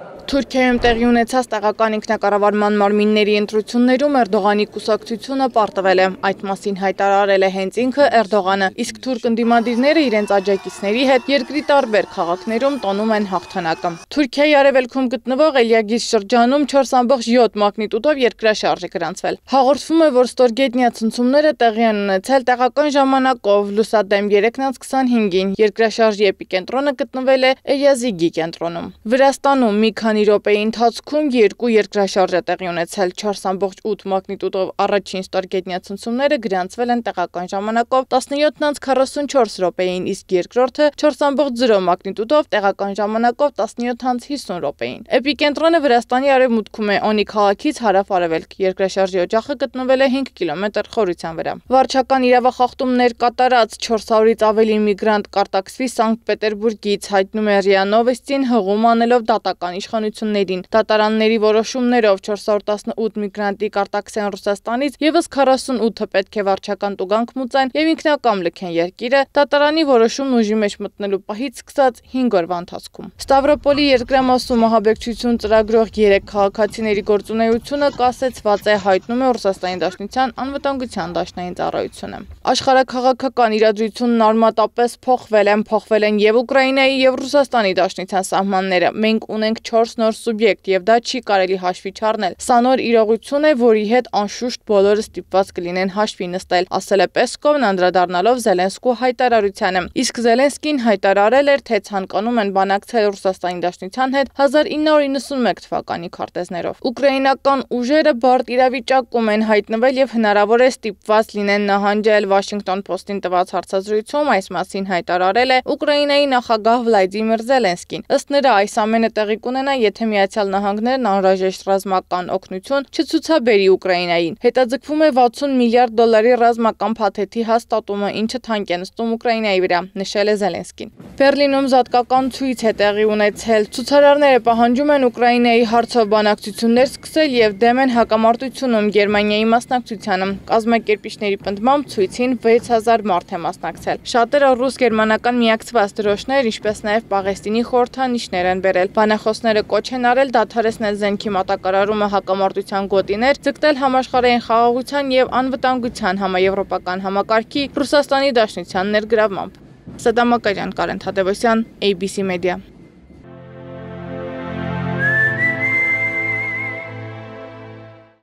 Թուրքիայում տեղի ունեցած տեղական ինքնակառավարման մարմինների ընտրություններում Էրդողանի կուսակցությունը պարտվել է։ Այդ մասին հայտարարել է հենց ինքը Էրդողանը, իսկ թուրք ընդդիմադիրները իրենց աջակիցների հետ երկրի տարբեր քաղաքներում տոնում են հաղթանակը։ Թուրքիայի արևելքում գտնվող Էլիագիզ շրջանում 4.7 մագնիտուդով երկրաշարժ է գրանցվել։ Հաղորդվում է, որ ստորգետնյա ցնցումները տեղի են ունեցել տեղական ժամանակով լուսադեմ 3:25-ին։ Երկրաշարժի էպիկենտրոնը գտնվել է Էյազիգի կենտրոնում։ Վրաստանում մի քանի րոպեի ընթացքում երկու երկրաշարժ է տեղի ունեցել 4.8 մագնիտուդով առաջին ստորգետնյա ցնցումները գրանցվել են տեղական ժամանակով 17:44 րոպեին, իսկ երկրորդը 4.0 մագնիտուդով տեղական ժամանակով 17:50 րոպեին։ Էպիկենտրոնը Վրաստանի արևմուտքում է Օնի քաղաքից հարավ-արևելք։ Երկրաշարժի օջախը գտնվել է 5 կիլոմետր խորության վրա։ Վարչական իրավախախտումներ կատարած 400-ից ավելի միգրանտ կարտաքսվի Սանկտ Պետերբուրգից, հայտնում է ՌԻԱ Նովոստին հղում անելով դատական իշխանություններին։ Դատարանների որոշումներով 418 միգրանտի կարտաքսեն Ռուսաստանից եւս 48-ը պետք է վարչական տուգանք մուծեն եւ ինքնակամ լքեն երկիրը դատարանի որոշումն ուժի մեջ մտնելու պահից սկսած 5 օրվա ընթացքում։ Ստավրոպոլի երկրամասում ահաբեկչություն ծրագրող 3 քաղաքացիների գործունեությունը կասեցված է, հայտնում է Ռուսաստանի Դաշնության անվտանգության դաշնային ծառայությունը։ Աշխարհաքաղաքական իրադրությունն արմատապես փոխվել են եւ Ուկրաինայի եւ Ռուսաստանի Դաշնության սահմանները։ Մենք ունենք 4 նոր սուբյեկտ եւ դա չի կարելի հաշվի չառնել։ Սա նոր իրողություն է, որի հետ անշուշտ բոլորը ստիպված կլինեն հաշվի նստել, ասել է Պեսկովն անդրադառնալով Զելենսկու հայտարարությանը։ Իսկ Զելենսկին հայտարարել էր, թե ցանկանում են բանակցել Ռուսաստանի Դաշնության հետ 1991 թվականի քարտեզներով։ Ուկրաինական ուժերը բարդ իրավիճակում են հայտնվել եւ հնարավոր է ստիպված լինեն նահանջել։ Washington Post-ին տված հարցազրույցում այս մասին հայտարարել է Ուկրաինայի նախագահ Վլադիմիր Զելենսկին։ Ըստ նրա, այս ամենը տեղի կունենա, եթե Միացյալ Նահանգներն անհրաժեշտ ռազմական օգնություն չցուցաբերի Ուկրաինային։ Հետաձգվում է $60 միլիարդ ռազմական փաթեթի հաստատումը, ինչը թանկ է նստում Ուկրաինայի վրա, նշել է Զելենսկին։ Բեռլինում զատկական ցույց է տեղի ունեցել։ Ցուցարարները պահանջում են Ուկրաինայի հարցով բանակցություններ սկսել եւ դեմ են հակամարտությունում Գերմանիայի մասնակցությանը։ Կազմակերպիչների պնդմամբ ցույցին 6000 մարդ է մասնակցել։ Շատերը ռուս-գերմանական միակցված դրոշներ, ինչպես նաեւ Պաղեստինի խորհրդանիշներ են բերել։ Բանախոսները կոչ են արել դադարեցնել զենքի մատակարարումը, հակամարտության գոտիներ, ձգտել համաշխարհային խաղաղության եւ անվտանգության համաեվրոպական համակարգի Ռուսաստանի Դաշնության ներգրավմամբ։ Սադամ Մակարյան, Կարեն Թադևոսյան, ABC Media։